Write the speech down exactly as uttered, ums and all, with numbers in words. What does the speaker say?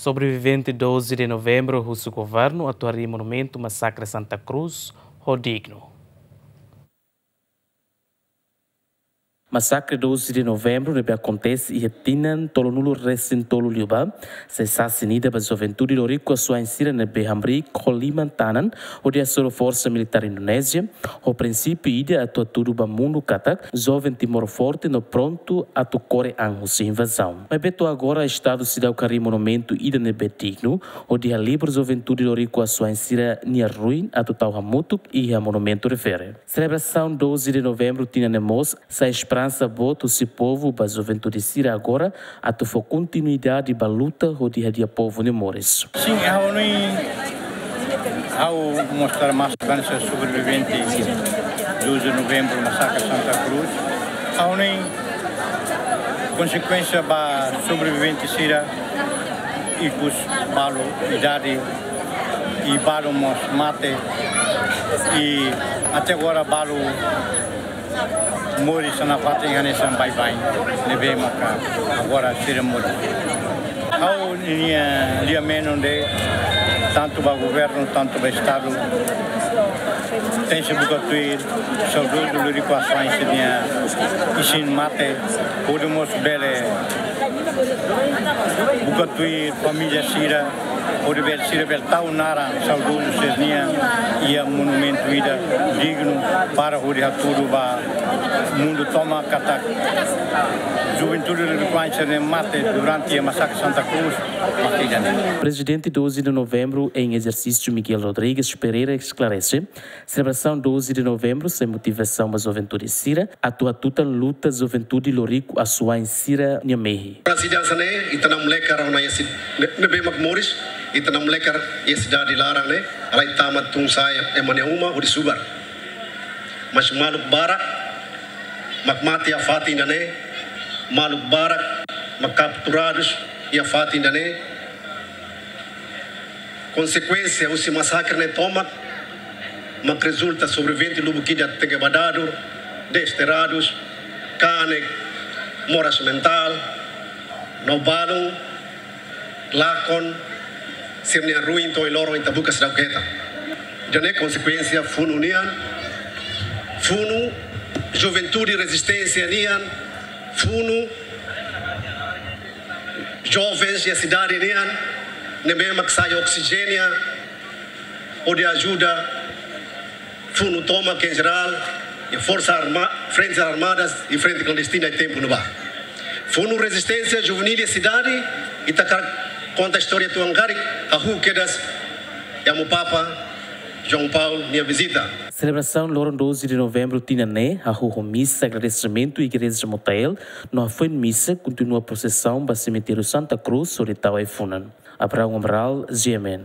Sobrevivente doze de Novembro husu governu atu harii monumentu Masakre Santa Cruz ho dignu. Masakre doze de Novembro ne'ebé akontese iha tinan tolunulu resin tolu liubá, sai sasin ida ba juventude loriku asuwa'in sira ne'ebé hamriik ho liman-tanan hodi hasoru forsa militár Indonézia, ho prinsípiu ida atu hatudu ba mundu katak joven Timor Forte no prontu atu kore an husi invazaun. Maibé to'o agora Estadu seidauk harii monumentu ida ne'ebé dignu hodi halibur juventude loriku asuwa'in sira-nia ruin atu tau hamutuk iha monumentu refere. Selebrasaun doze de Novembro tinan ne'e mós sai esperansa boot husi povu ba juventude sira agora atu fó kontinuidade ba luta hodi hadi'a povu nia moris. Sin, ha'u hanoin, ha'u mostra mas bansa sobrevivente doze de Novembro, Masakre Santa Cruz. Ha'u hanoin konsekuénsia ba sobrevivente sira, ikus balu idade, i balu mós mate, i até agora balu moris iha fatin hanesan baibain, ne'ebé maka agora sira moris. Ha'u-nia liamen ne'e tantu ba governu, tantu ba Estadu, tenke buka tuir saudozu loriku asuwa'in sira-nia isin-mate, hodi mós bele buka tuir família sira, hodi bele sira bele tau naran saudozu sira-nian iha monumentu ida dignu para hodi hatudu ba mundu tomak katak juventude loriku asuwa'in sira-nia mate durante iha Masakre Santa Cruz, mate ida-ne'e. Prezidente doze de Novembro em exercício Miguel Rodrigues Pereira esklarese, selebrasaun doze de Novembro sai motivasaun ba juventude sira atu hatutan luta juventude loriku asuwa'in sira-nia mehi. Para sida hanesan ne'e, ita-nia moleque rona iha si-, ne-, ne'ebé mak moris, ita-nia moleque iha sidade laran ne'e, halai tama tun-sa'e ema nia uma hodi subar. Mas maluk barak mak mate iha fatin ida-ne'e, maluk barak mak kapturadus iha fatin ida-ne'e. Konsekuénsia husi masakre ne'e tomak mak rezulta sobrevivente lubuk ida tenke ba dadur, desterados, kanek, moras mentál, no balun, lakon, sira-nia ruin to'o ohin loron ita buka seidauk hetan. Ida-ne'e konsekuénsia funu nian, funu juventude rezisténsia nian, funu jovens iha sidade nian, ne'ebé mak sai oksijéniu hodi ajuda funu tomak en jerál, iha Forsa Arma-, Frentes Armadas i Frente Klandestina iha tempu ne'ebá. Funu rezisténsia juvenil iha sidade, ita hakarak konta istória tuan karik, hahú kedas iha Amu Papa João Paulo nia vizita. Selebrasaun loron doze de Novembro tinan ne'e, hahú ho misa agradesimentu Igreja Motael, no hafoin misa kontinua prosesaun ba semitériu Santa Cruz, hodi tau ai-funan. Abraão Amaral, G M N.